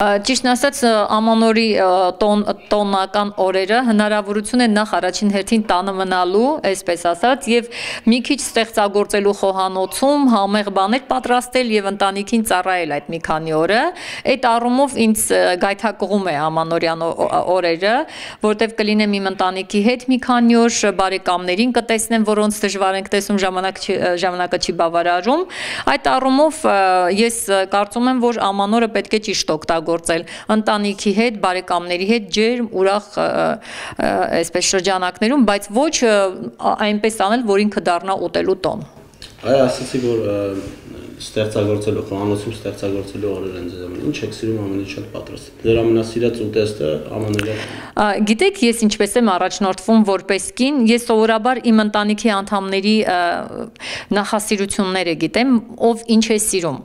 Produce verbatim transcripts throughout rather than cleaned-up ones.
Ճիշտն ասած, ամանորի տոնական օրերը հնարավորություն են նախ առաջին հերթին տանը մնալու, այսպես ասած, եւ մի քիչ ստեղծագործելու խոհանոցում, համեղ բաներ պատրաստել եւ ընտանիքին ծառայել այդ մի քանի օրը։ Այդ առումով ինձ գայթակղում է ամանորյան օրերը, որտեվ կլինեմ իմ ընտանիքի հետ մի քանի օր, բարեկամներին կտեսնեմ, որոնց դժվար ենք տեսնում, ժամանակ ժամանակը չի բավարարում։ Այդ առումով ես կարծում եմ, որ ամանորը պետք է ճիշտ օգտագործել ընտանիքի հետ, բարեկամների հետ, ջերմ, ուրախ այսպես շրջանակներում, բայց ոչ այնպես անել, որ ինքը դառնա ուտելու տոն։ Այ ասացի, որ ստեղծագործելու, խոհանոցում ստեղծագործելու օրեր են ձեզ ամեն ինչ եք սիրում ամենից շատ պատրաստել։ Ձեր ամենասիրած ուտեստը ամանորյա։ Գիտեք, ես ինչպես եմ առաջնորդվում որպես կին, ես սովորաբար իմ ընտանիքի անդամների նախասիրությունները գիտեմ, ով ինչ է սիրում,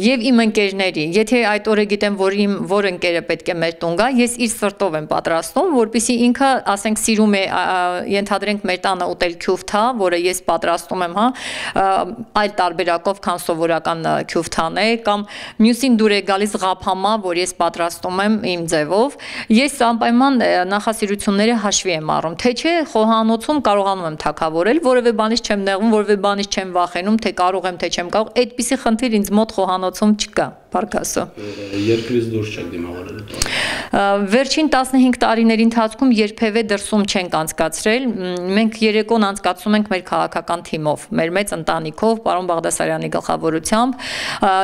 եւ իմ ընկերների։ Եթե այդ օրը գիտեմ, որ իմ որ ընկերը պետք է մեր տուն գա, ես իր սրտով եմ պատրաստում, որպեսզի ինքը, ասենք, սիրում է, ենթադրենք մեր տանը ուտել քյուֆթա, որը ես պատրաստում եմ, հա, այլ տարբերակով, քան սովորական քյուֆթան է, կամ մյուսին դուր է գալիս ղափամա, որ ես պատրաստում եմ իմ ձևով, ես անպայման նախասիրությունները հաշվի եմ առնում, թե չէ խոհանոցում կարողանում եմ թագավորել, որևէ բանից չեմ նեղվում, որևէ բանից չեմ վախենում, թե կարող եմ, թե չեմ կարող, այդպիսի խնդիր ինձ մոտ խոհանոցում չկա, փառքասո։ Երկրից դուրս չեք դիմավորել տոն։ Վերջին տասնհինգ տարիների ընթացքում երբևէ դրսում չենք անցկացրել, մենք երեկոն անցկացում ենք մեր քաղաքական թիմով, մեր մեծ ընտանիքով, պարոն Բաղդասարյանի գլխավորությամբ,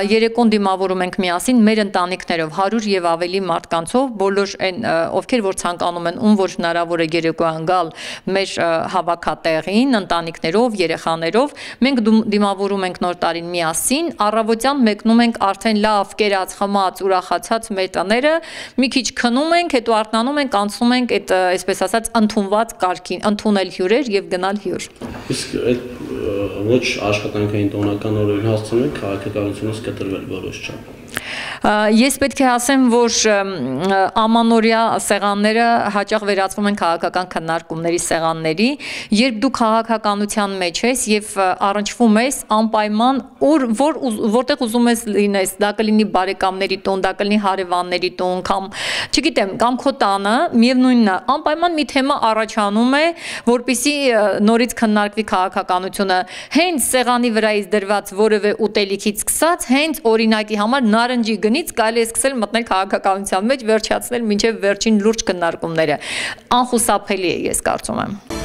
երեկոն դիմավորում ենք միասին մեր ընտանիքներով, հարյուր եւ ավելի մարդկանցով, բոլոր այն ովքեր որ ցանկանում են, ում որ հնարավոր է երեկոյան գալ մեր հավաքատեղին, ընտանիքներով, երեխաներով, մենք դիմավորում ենք նոր տարին միասին, առավոտյան մեկնում ենք արդեն լավ կերած, խմած, ուրախացած մեր տները, մի քիչ քնում ենք, հետո արթնանում ենք, անցնում ենք այդ այսպես ասած ընդունված կարգին, ընդունել հյուրեր եւ գնալ հյուր։ Իսկ այդ ոչ աշխատանքային տոնական օրերին հասցնում եք քաղաքականությունից կտրվել որոշ չափ։ Ես պետք է ասեմ, որ ամանորյա սեղանները հաճախ վերածվում են քաղաքական քննարկումների սեղանների, երբ դու քաղաքականության մեջ ես եւ առնչվում ես անպայման որ որտեղ ուզում ես լինես, դա կլինի բարեկամների տուն, դա կլինի հարևանների տուն, կամ չգիտեմ, կամ քո տանը, միևնույնն է, անպայման մի թեմա առաջանում է, որպեսզի նորից քննարկվի քաղաքականությունը, հենց սեղանի վրայից դրված որևէ ուտելիքից սկսած, հենց օրինակի համար նարնջի գնից կարելի է սկսել մտնել քաղաքականության մեջ, վերջացնել մինչև վերջին լուրջ քննարկումները։ Անխուսափելի է, ես կարծում եմ։